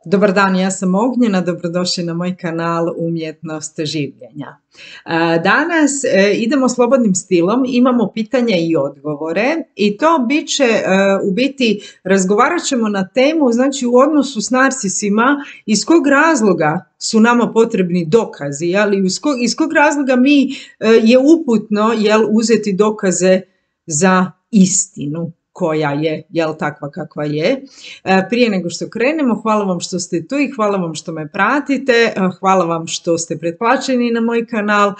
Dobar dan, ja sam Ognjena, dobrodošli na moj kanal Umjetnost življenja. Danas idemo slobodnim stilom, imamo pitanja i odgovore i to bit će, u biti, razgovarat ćemo na temu, znači u odnosu s narsisima, iz kog razloga su nama potrebni dokazi, ali iz kog razloga je uputno uzeti dokaze za istinu koja je, takva kakva je. Prije nego što krenemo, hvala vam što ste tu i hvala vam što me pratite, hvala vam što ste pretplaćeni na moj kanal,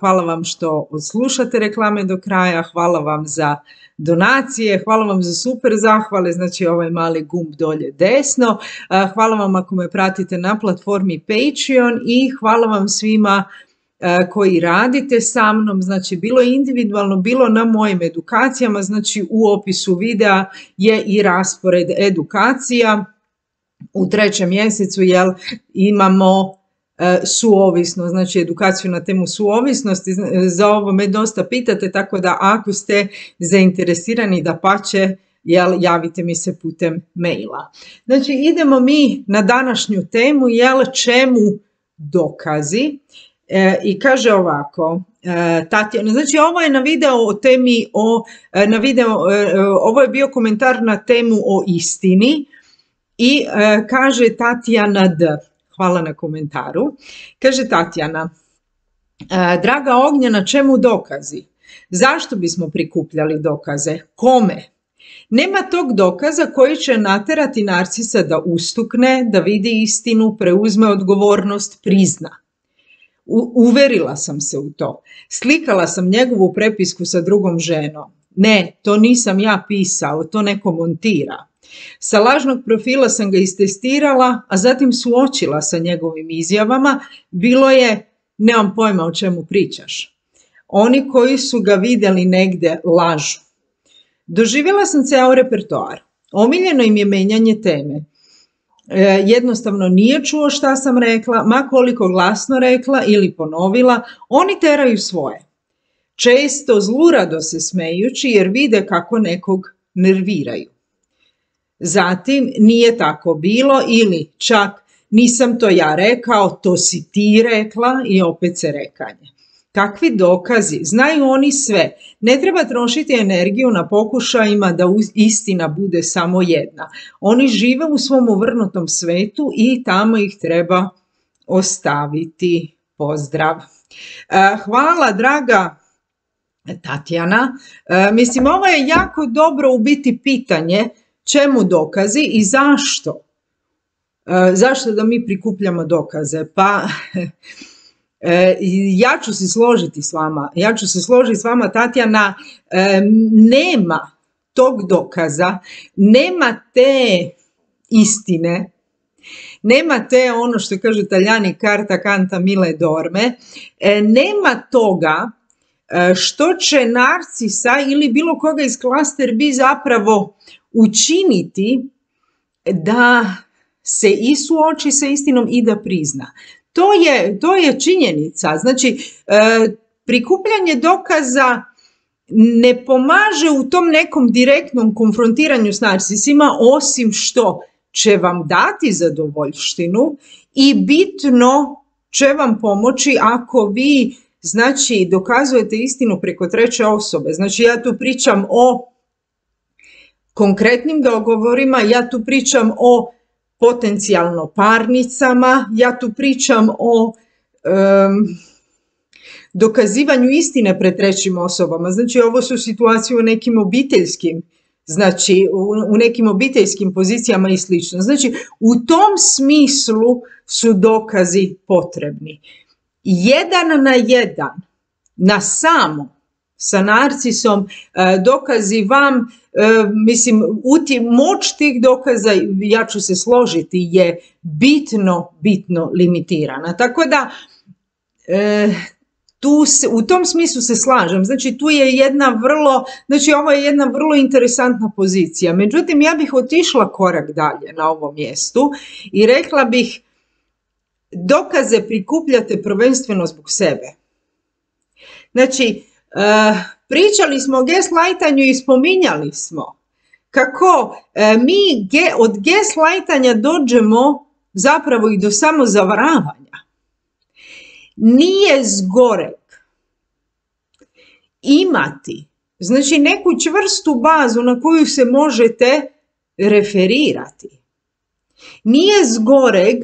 hvala vam što odslušate reklame do kraja, hvala vam za donacije, hvala vam za super zahvale, znači ovaj mali gumb dolje desno, hvala vam ako me pratite na platformi Patreon i hvala vam svima koji radite sa mnom, znači bilo individualno, bilo na mojim edukacijama, znači u opisu videa je i raspored edukacija. U 3. mjesecu imamo suovisnost, znači edukaciju na temu suovisnosti, za ovo me dosta pitate, tako da ako ste zainteresirani, dapače, javite mi se putem maila. Znači idemo mi na današnju temu, čemu dokazi. I kaže ovako, Tatjana, znači ovo je na video o temi, ovo je bio komentar na temu o istini i kaže Tatjana D. Hvala na komentaru. Kaže Tatjana, draga Ognjena, čemu dokazi? Zašto bismo prikupljali dokaze? Kome? Nema tog dokaza koji će naterati narsisa da ustukne, da vidi istinu, preuzme odgovornost, prizna. Uverila sam se u to. Slikala sam njegovu prepisku sa drugom ženom. Ne, to nisam ja pisao, to neko montira. Sa lažnog profila sam ga istestirala, a zatim suočila sa njegovim izjavama. Bilo je, nemam pojma o čemu pričaš. Oni koji su ga vidjeli negdje lažu. Doživjela sam ceo repertoar. Omiljeno im je menjanje teme. Jednostavno nije čuo šta sam rekla, ma koliko glasno rekla ili ponovila, oni teraju svoje. Često zlurado se smejući jer vide kako nekog nerviraju. Zatim nije tako bilo ili čak nisam to ja rekao, to si ti rekla i opet se rekanje. Kakvi dokazi? Znaju oni sve. Ne treba trošiti energiju na pokušajima da istina bude samo jedna. Oni žive u svom uvrnutom svetu i tamo ih treba ostaviti. Pozdrav. Hvala, draga Tatjana. Mislim, ovo je jako dobro u biti pitanje čemu dokazi i zašto. Zašto da mi prikupljamo dokaze? Pa ja ću se složiti s vama, Tatjana, nema tog dokaza, nema te istine, nema te, ono što kažu Talijani, carta canta mille dorme, nema toga što će narsisa ili bilo koga iz klaster B zapravo učiniti da se i suoči sa istinom i da prizna. To je činjenica. Znači, prikupljanje dokaza ne pomaže u tom nekom direktnom konfrontiranju s narsisima, osim što će vam dati zadovoljštinu i bitno će vam pomoći ako vi, znači, dokazujete istinu preko treće osobe. Znači, ja tu pričam o konkretnim dogovorima, ja tu pričam o potencijalno parnicama, ja tu pričam o dokazivanju istine pred trećim osobama. Znači, ovo su situacije u nekim obiteljskim, znači u nekim obiteljskim pozicijama i slično. Znači, u tom smislu su dokazi potrebni. 1 na 1, na samo, sa narcisom, dokazi vam, mislim, moć tih dokaza, ja ću se složiti, je bitno limitirana. Tako da, u tom smislu se slažem. Znači, tu je ovo je jedna vrlo interesantna pozicija. Međutim, ja bih otišla korak dalje na ovom mjestu i rekla bih, dokaze prikupljate prvenstveno zbog sebe. Znači, pričali smo o gaslightanju i spominjali smo kako mi od gaslightanja dođemo zapravo i do samozavaravanja. Nije zgoreg imati, znači, neku čvrstu bazu na koju se možete referirati. Nije zgoreg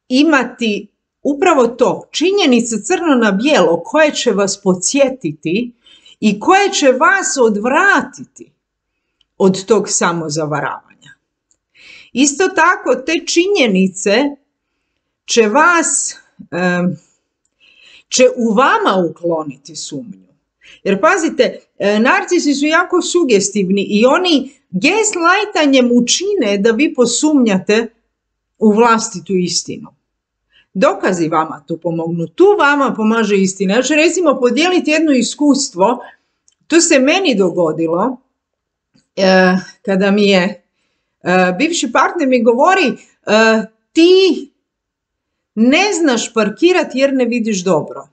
imati upravo to, činjenice crno na bijelo koje će vas podsjetiti i koje će vas odvratiti od tog samozavaravanja. Isto tako, te činjenice će u vama ukloniti sumnju. Jer pazite, narcisi su jako sugestivni i oni gaslightanjem učine da vi posumnjate u vlastitu istinu. Dokazi vama tu pomognu, tu vama pomaže istina. Ja ću recimo podijeliti jedno iskustvo, to se meni dogodilo kada mi je bivši partner mi govori ti ne znaš parkirati jer ne vidiš dobro.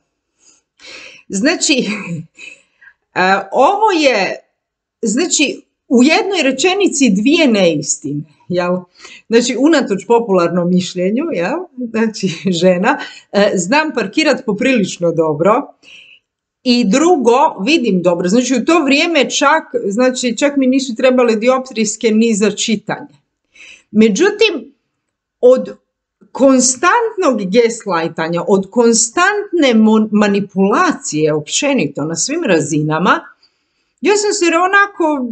Znači, ovo je, znači, u jednoj rečenici dvije neistine, jel? Znači, unatoč popularnom mišljenju, jel? Znači, žena, znam parkirati poprilično dobro i drugo, vidim dobro. Znači, u to vrijeme čak mi nisu trebale dioptrijske ni za čitanje. Međutim, od konstantnog gaslightanja, od konstantne manipulacije općenito na svim razinama, ja sam se onako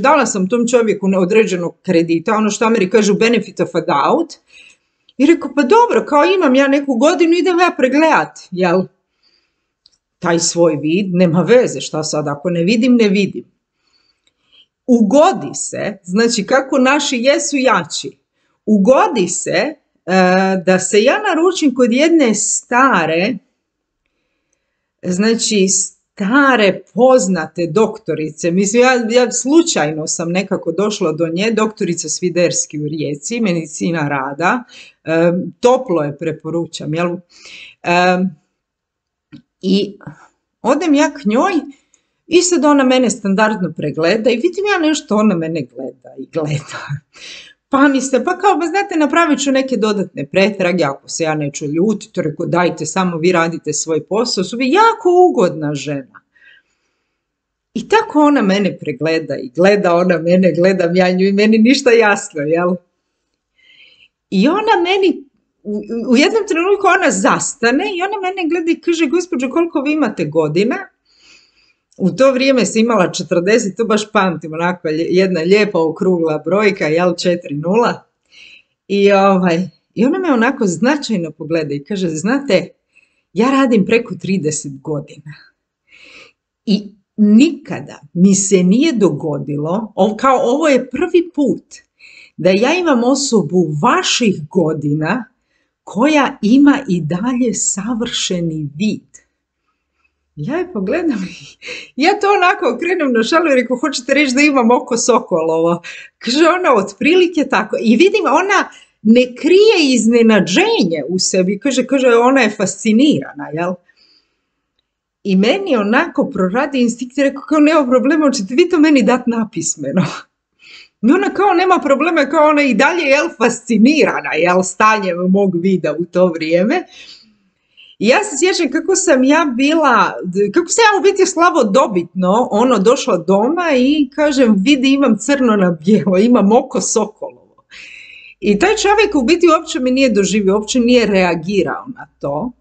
dala sam tom čovjeku neodređenog kredita, ono što Ameri kažu benefit of a doubt, i rekao, pa dobro, kao imam ja neku godinu, idem ja pregledat, jel? Taj svoj vid, nema veze, šta sad, ako ne vidim, ne vidim. Ugodi se, znači kako naši jesu jači, ugodi se da se ja naručim kod jedne stare poznate doktorice, mislim ja slučajno sam nekako došla do nje, doktorica Sviderski u Rijeci, medicina rada, toplo je preporučam, jel? I odem ja k njoj i sad ona mene standardno pregleda i vidim ja nešto, ona mene gleda. Pa mi se, znate, napravit ću neke dodatne pretrage, ako se ja neću ljutiti, rekao, dajte, samo vi radite svoj posao, su vi jako ugodna žena. I tako ona mene pregleda i gleda ona mene, gledam ja nju i meni ništa jasno, jel? I ona meni, u jednom trenutku ona zastane i ona mene gleda i kaže, gospođo, koliko vi imate godina? U to vrijeme sam imala 40, to baš pamtim, onako jedna lijepa okrugla brojka, jel, 4-0. I ona me onako značajno pogleda i kaže, znate, ja radim preko 30 godina. I nikada mi se nije dogodilo, kao ovo je prvi put, da ja imam osobu vaših godina koja ima i dalje savršeni vid. Ja je pogledam i ja to onako okrenem na šalu i rekao, hoćete reći da imam oko sokolovo? Kaže ona, otprilike tako. I vidim, ona ne krije iznenađenje u sebi. Kaže, ona je fascinirana, jel? I meni onako proradi instinkt i rekao, kao nema problema, hoćete vi to meni dati napismeno? I ona kao nema problema, kao ona i dalje, jel, fascinirana, jel, stanjem mog vida u to vrijeme. I ja se sjećam kako sam ja u biti slavodobitno došla doma i kažem, vidi, imam crno na bijelo, imam oko sokolovo. I taj čovjek u biti uopće me nije doživio, uopće nije reagirao na to.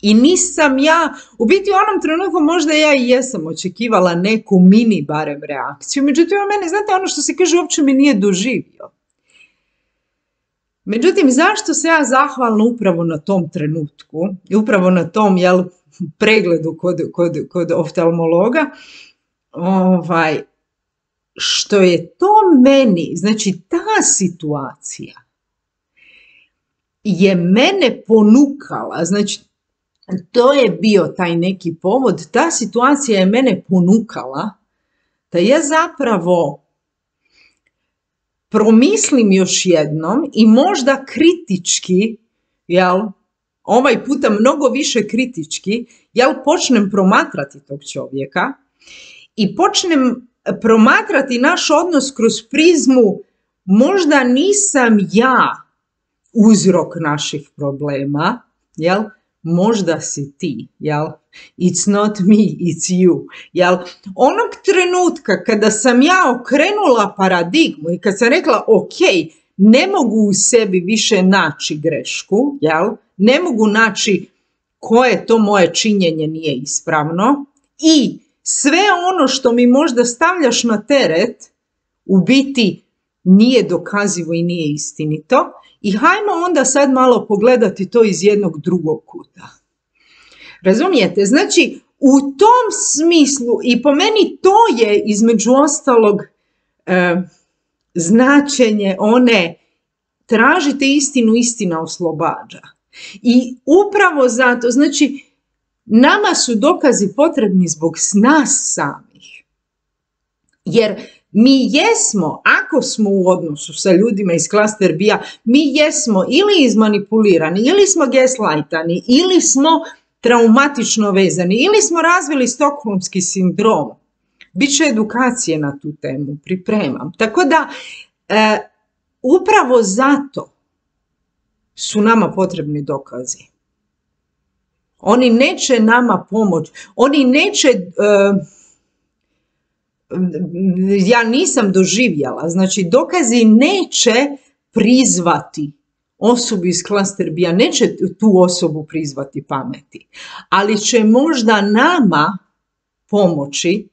I nisam ja, u biti u onom trenutku možda ja i jesam očekivala neku mini barem reakciju, međutim on mene, znate, ono što se kaže, uopće me nije doživio. Međutim, zašto se ja zahvalna upravo na tom trenutku, upravo na tom, jel, pregledu kod oftalmologa, što je to meni, znači ta situacija je mene ponukala, znači to je bio taj neki povod, ta situacija je mene ponukala da ja zapravo promislim još jednom i možda kritički, jel, ovaj puta mnogo više kritički, jel, počnem promatrati tog čovjeka i počnem promatrati naš odnos kroz prizmu možda nisam ja uzrok naših problema, jel? Možda si ti, jel? It's not me, it's you, jel? Onog trenutka kada sam ja okrenula paradigmu i kad sam rekla ok, ne mogu u sebi više naći grešku, jel? Ne mogu naći koje to moje činjenje nije ispravno i sve ono što mi možda stavljaš na teret u biti nije dokazivo i nije istinito. I hajmo onda sad malo pogledati to iz jednog drugog kuta. Razumijete? Znači, u tom smislu i po meni to je između ostalog značenje one tražite istinu, istina oslobađa. I upravo zato, znači, nama su dokazi potrebni zbog nas samih. Jer mi jesmo, ako smo u odnosu sa ljudima iz klaster B-a, mi jesmo ili izmanipulirani, ili smo gaslightani, ili smo traumatično vezani, ili smo razvili stokholmski sindrom. Biće edukacije na tu temu, pripremam. Tako da, upravo zato su nama potrebni dokazi. Oni neće nama pomoći, oni neće... ja nisam doživjela, znači dokazi neće prizvati osobu iz klaster B-a, neće tu osobu prizvati pameti, ali će možda nama pomoći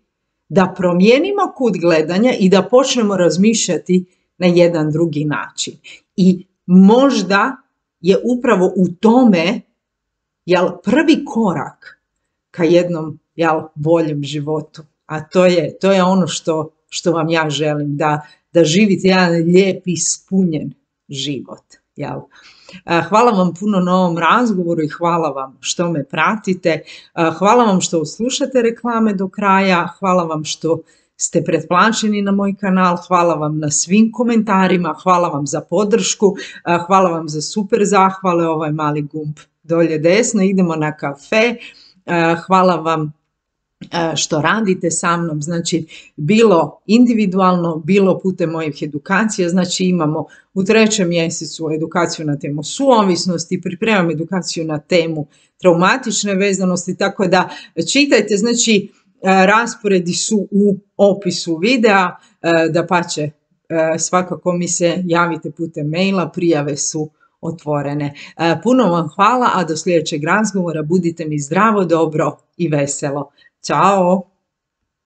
da promijenimo kut gledanja i da počnemo razmišljati na jedan drugi način. I možda je upravo u tome prvi korak ka jednom boljem životu. A to je ono što vam ja želim, da živite jedan lijep i ispunjen život. Jel? Hvala vam puno na ovom razgovoru i hvala vam što me pratite. Hvala vam što slušate reklame do kraja. Hvala vam što ste pretplaćeni na moj kanal. Hvala vam na svim komentarima. Hvala vam za podršku. Hvala vam za super zahvale. Ovaj mali gumb dolje desno. Idemo na kafe. Hvala vam što radite sa mnom, znači bilo individualno, bilo putem mojih edukacija, znači imamo u 3. mjesecu edukaciju na temu suovisnosti, pripremam edukaciju na temu traumatične vezanosti, tako da čitajte, znači rasporedi su u opisu videa, dapače svakako mi se javite putem maila, prijave su otvorene. Puno vam hvala, a do sljedećeg razgovora budite mi zdravo, dobro i veselo. Ćao!